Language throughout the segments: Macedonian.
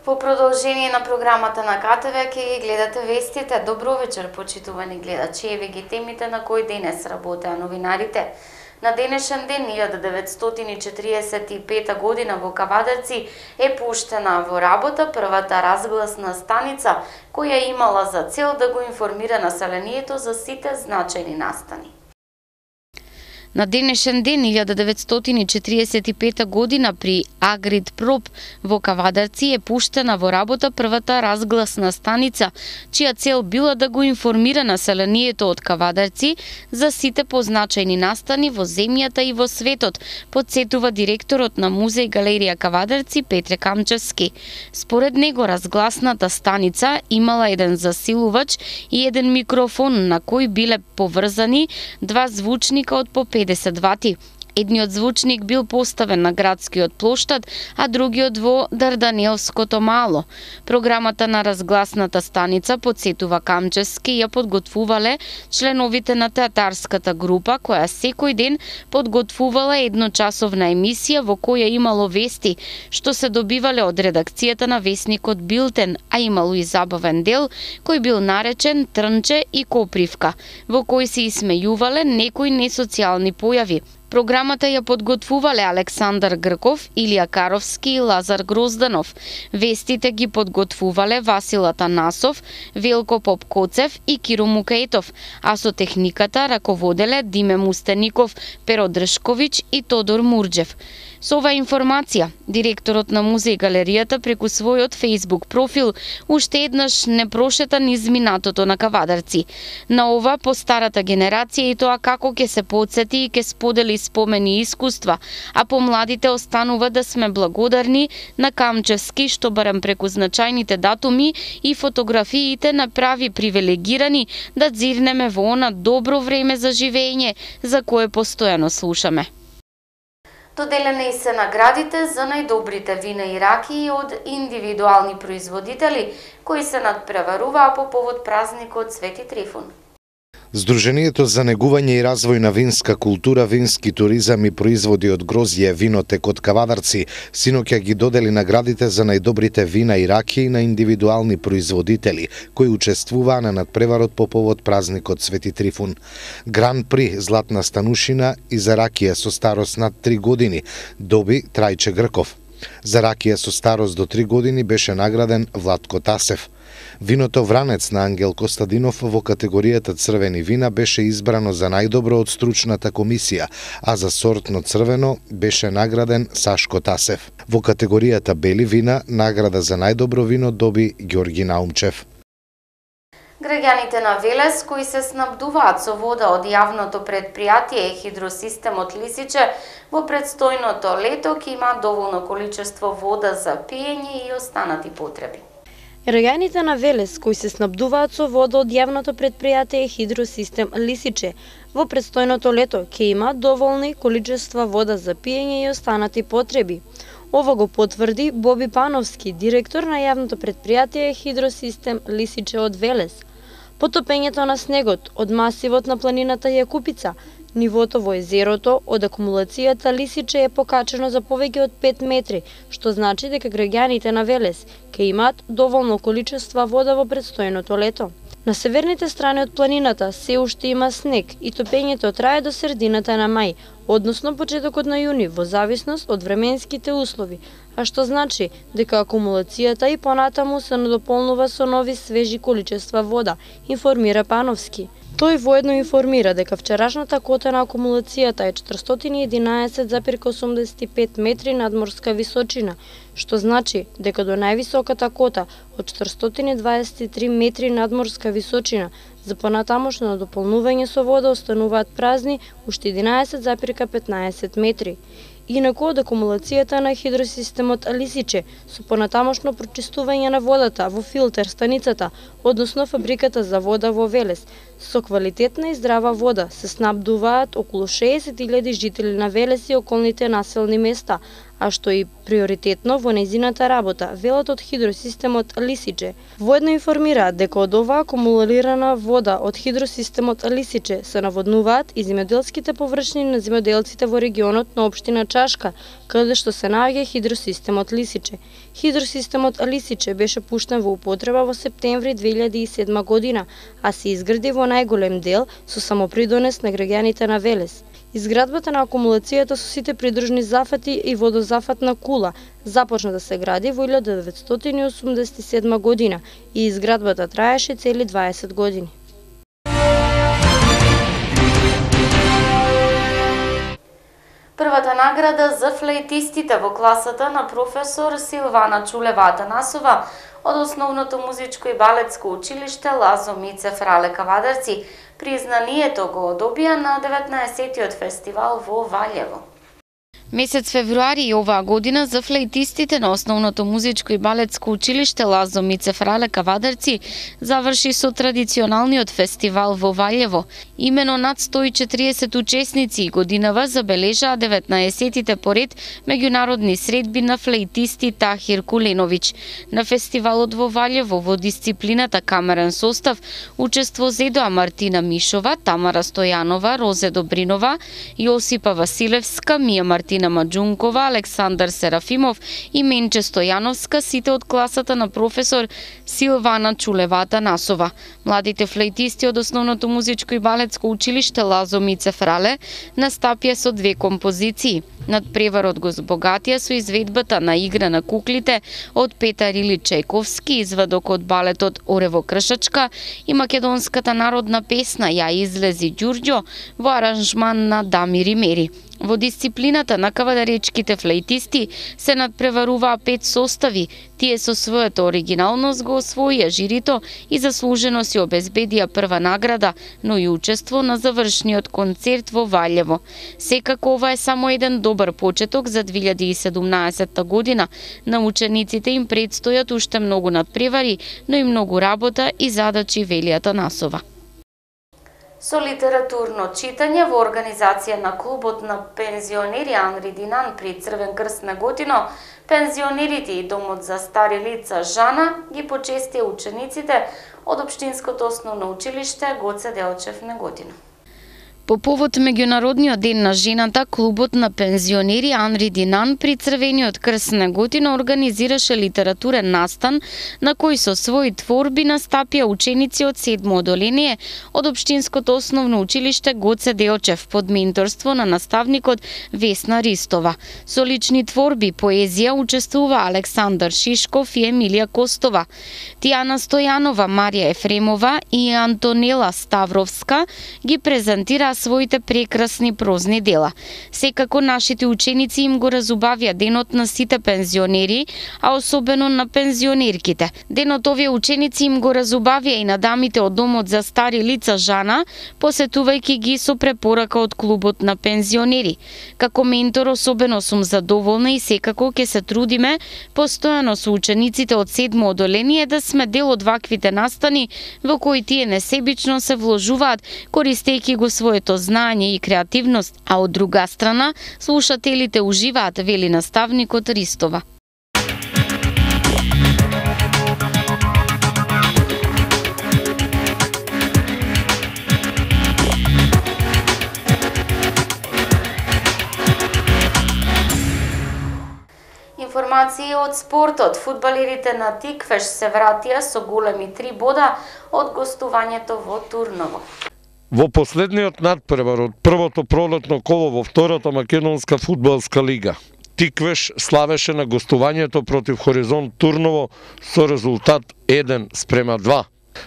По продолжение на програмата на КТВ ќе ги гледате вестите. Добро вечер, почитувани гледачи. Еве ги темите на кои денес работеа новинарите. На денешен ден 1945 година во Кавадарци е пуштена во работа првата разгласна станица која имала за цел да го информира населението за сите значајни настани. На денешен ден 1945 година при Агритпроп во Кавадарци е пуштена во работа првата разгласна станица, чија цел била да го информира населението од Кавадарци за сите позначајни настани во земјата и во светот, потсетува директорот на Музеј галерија Кавадарци Петре Камчевски. Според него разгласната станица имала еден засилувач и еден микрофон на кој биле поврзани два звучника од по 50 вати. Едниот звучник бил поставен на градскиот плоштад, а другиот во Дарданелското мало. Програмата на разгласната станица, потсетува Камчевски, ја подготвувале членовите на театарската група, која секој ден подготвувала едночасовна емисија во која имало вести, што се добивале од редакцијата на весникот Билтен, а имало и забавен дел, кој бил наречен Трнче и Копривка, во кој се исмејувале некои несоцијални појави. Програмата ја подготвувале Александар Грков, Илија Каровски и Лазар Грозданов. Вестите ги подготвувале Васил Атанасов, Велко Попкоцев и Киро Мукаетов, а со техниката раководеле Диме Мустеников, Перо Дршковиќ и Тодор Мурџев. Со оваа информација, директорот на Музеј галеријата преку својот Facebook профил уште еднаш не прошета низ минатото на Кавадарци. На ова по старата генерација и тоа како ќе се потсети и ќе сподели спомени и искуства, а по младите останува да сме благодарни на Камчевски што барем преку значајните датуми и фотографиите направи привилегирани да дзирнеме во она добро време за живење за кое постојано слушаме. Доделени се наградите за најдобрите вина и ракии од индивидуални производители кои се надпреваруваа по повод празникот Свети Трифун. Сдруженијето за негување и развој на винска култура, вински туризам и производи од грозје винотек од Кавадарци синоќа ги додели наградите за најдобрите вина и ракии на индивидуални производители кои учествуваа на надпреварот по повод празникот Свети Трифун. Гран при златна станушина и за ракија со старост над 3 години доби Трајче Грков. За ракија со старост до 3 години беше награден Владко Тасев. Виното Вранец на Ангел Костадинов во категоријата црвени вина беше избрано за најдобро од стручната комисија, а за сортно црвено беше награден Сашко Тасев. Во категоријата бели вина награда за најдобро вино доби Ѓорги Наумчев. Граѓаните на Велес кои се снабдуваат со вода од јавното предпријатие Хидросистемот Лисиче во предстојното лето ќе имаат доволно количество вода за пиење и останати потреби. Граѓаните на Велес кои се снабдуваат со вода од јавното предпријатие Хидросистем Лисиче во предстојното лето ќе имаат доволни количества вода за пиење и останати потреби. Ова го потврди Боби Пановски, директор на јавното предпријатие Хидросистем Лисиче од Велес. Потопењето на снегот од масивот на планината Јакупица, нивото во езерото од акумулацијата Лисиче е покачено за повеќе од 5 метри, што значи дека граѓаните на Велес ќе имаат доволно количество вода во предстојното лето. На северните страни од планината се уште има снег и топењето трае до средината на мај, односно почетокот на јуни, во зависност од временските услови, а што значи дека акумулацијата и понатаму се надополнува со нови свежи количества вода, информира Пановски. Тој воедно информира дека вчерашната кота на акумулацијата е 411,85 метри надморска височина, што значи дека до највисоката кота од 423 метри надморска височина за понатамошно надополнување со вода остануваат празни уште 11,15 метри. Инаку од акумулацијата на хидросистемот Лисиче со понатамошно прочистување на водата во филтер станицата, односно фабриката за вода во Велес, со квалитетна и здрава вода се снабдуваат околу 60.000 жители на Велес и околните населни места, а што и приоритетно во нејзината работа, велат од хидросистемот Лисиче. Воедно информираат дека од оваа акумулирана вода од хидросистемот Лисиче се наводнуваат и земјоделските површини на земјоделците во регионот на општина Чашка, каде што се наоѓа хидросистемот Лисиче. Хидросистемот Лисиче беше пуштен во употреба во септември 2007 година, а се изгради во најголем дел со самопридонес на граѓаните на Велес. Изградбата на акумулацијата со сите придружни зафати и водозафатна кула започна да се гради во 1987 година и изградбата траеше цели 20 години. Првата награда за флейтистите во класата на професор Силвана Чулева Атанасова од Основното музичко и балетско училиште Лазо Мице Фрале Кавадарци признанието го добија на 19-тиот фестивал во Валјево. Месец февруари оваа година за флейтистите на Основното музичко и балетско училиште Лазо Мице Фрале Кавадарци заврши со традиционалниот фестивал во Валјево. Имено над 140 учесници годинава забележаа 19-тите поред меѓународни средби на флейтисти Тахир Куленовиќ. На фестивалот во Валјево во дисциплината камерен состав учество зедоа Мартина Мишова, Тамара Стојанова, Розе Добринова, Јосипа Василевска, Мија Мартина Маџункова, Александар Серафимов и Менче Стојановска, сите од класата на професор Силвана Чулева Атанасова. Младите флейтисти од Основното музичко и балетско училиште Лазо Мице Фрале настапија со две композиции. Надпреварот го збогатија со изведбата на Игра на куклите од Петар Или Чајковски, извадок од балетот Орево Кршачка и македонската народна песна Ја излези Ѓурѓо во аранжман на Дамир Имери. Во дисциплината на кавадаречките флейтисти се надпреваруваа 5 состави. Тие со својата оригиналност го освоија жирито и заслужено си обезбедија прва награда, но и учество на завршниот концерт во Валјево. Секако ова е само еден добар почеток за 2017 година. На учениците им предстојат уште многу надпревари, но и многу работа и задачи, вели Атанасова. Со литературно читање во организација на клубот на пензионери Анри Динан при Црвен крст на Готино, пензионерите и домот за стари лица Жана ги почестија учениците од Општинското основно училиште Гоце Делчев на Готино. По повод меѓународниот ден на жената, клубот на пензионери Анри Динан при Црвениот крст на Готино организираше литературен настан на кој со своји творби настапија ученици од 7 одделение од Општинското основно училиште Гоце Делчев под менторство на наставникот Весна Ристова. Со лични творби поезија учествува Александар Шишков и Емилија Костова. Тијана Стојанова, Марија Ефремова и Антонела Ставровска ги презентираа своите прекрасни прозни дела. Секако нашите ученици им го разубавија денот на сите пензионери, а особено на пензионерките. Денот овие ученици им го разубавија и на дамите од домот за стари лица Жана, посетувајќи ги со препорака од клубот на пензионери. Како ментор особено сум задоволна и секако ќе се трудиме постојано со учениците од 7 одделение да сме дел од ваквите настани во кои тие несебично се вложуваат користејќи го своето знаење и креативност, а од друга страна слушателите уживаат, вели наставникот Ристова. Информации од спортот. Фудбалерите на Тиквеш се вратија со големи 3 бода од гостувањето во Турново. Во последниот надпревар од првото пролетно коло во втората македонска фудбалска лига, Тиквеш славеше на гостувањето против Хоризонт Турново со резултат 1:2.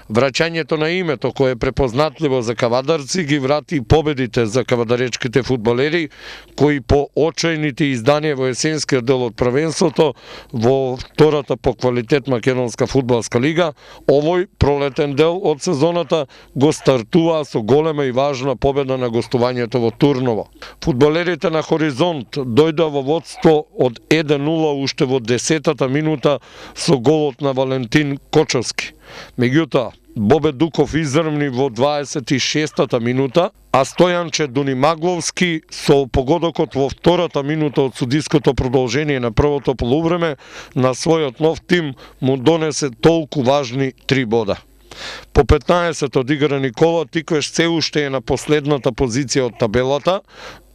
Враќањето на името кое е препознатливо за кавадарци ги врати победите за кавадаречките фудбалери кои по очајните изданија во есенскиот дел од првенството во втората по квалитет македонска фудбалска лига, овој пролетен дел од сезоната го стартуваа со голема и важна победа на гостувањето во Турново. Фудбалерите на Хоризонт дојдоа во водство од 1:0 уште во 10-та минута со голот на Валентин Кочовски. Меѓутоа, Бобе Дуков изрмни во 26-та минута, а Стојанче Дунимагловски со погодокот во втората минута од судиското продолжение на првото полувреме на својот нов тим му донесе толку важни 3 бода. По 15 одиграни кола Тиквеш се уште е на последната позиција од табелата,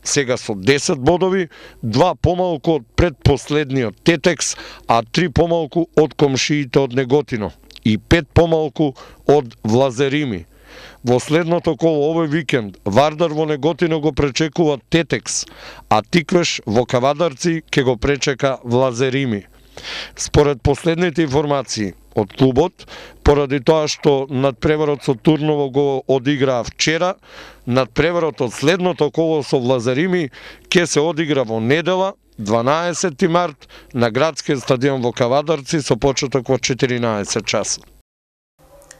сега со 10 бодови, 2 помалку од предпоследниот Тетекс, а 3 помалку од комшиите од Неготино и 5 помалку од Влазерими. Во следното коло овој викенд Вардар во Неготино го пречекува Тетекс, а Тиквеш во Кавадарци ќе го пречека Влазерими. Според последните информации од клубот, поради тоа што надпреварот со Турново го одиграа вчера, надпреварот од следното коло со Влазерими ќе се одигра во недела, 12 март, на градскиот стадион во Кавадарци со почеток во 14 часа.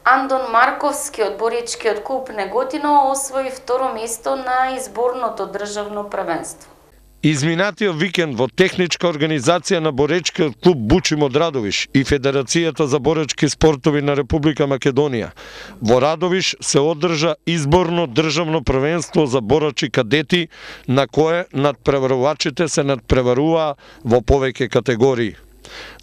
Андон Марковски од боречкиот клуб Неготино освои второ место на изборното државно првенство. Изминатиот викенд во техничка организација на боречкиот клуб Бучим од Радовиш и Федерацијата за боречки спортови на Република Македонија во Радовиш се одржа изборно државно првенство за борачи кадети, на кое надпреварувачите се надпреваруваа во повеќе категории.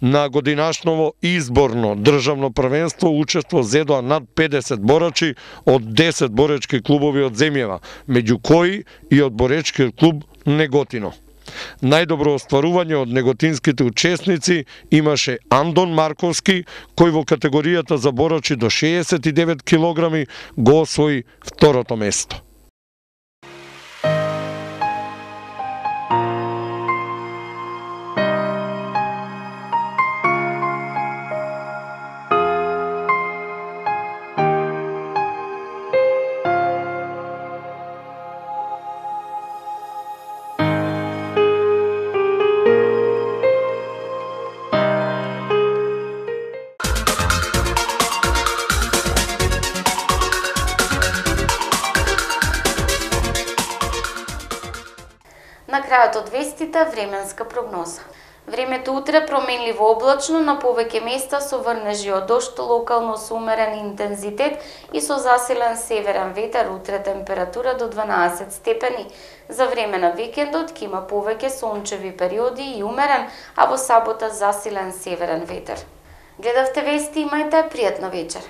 На годинашново изборно државно првенство учество зедоа над 50 борачи од 10 боречки клубови од земјава, меѓу кои и од боречкиот клуб Неготино. Најдобро остварување од неготинските учесници имаше Андон Марковски, кој во категоријата за борачи до 69 килограми го освои второто место. На крајот од вестите, временска прогноза. Времето утре променливо облачно, на повеќе места со врнежи од дожд, локално со умерен интензитет и со засилен северен ветер, утре температура до 12 степени. За време на викендот ќе има повеќе сончеви периоди и умерен, а во сабота засилен северен ветер. Гледавте вести, имајте пријатна вечер.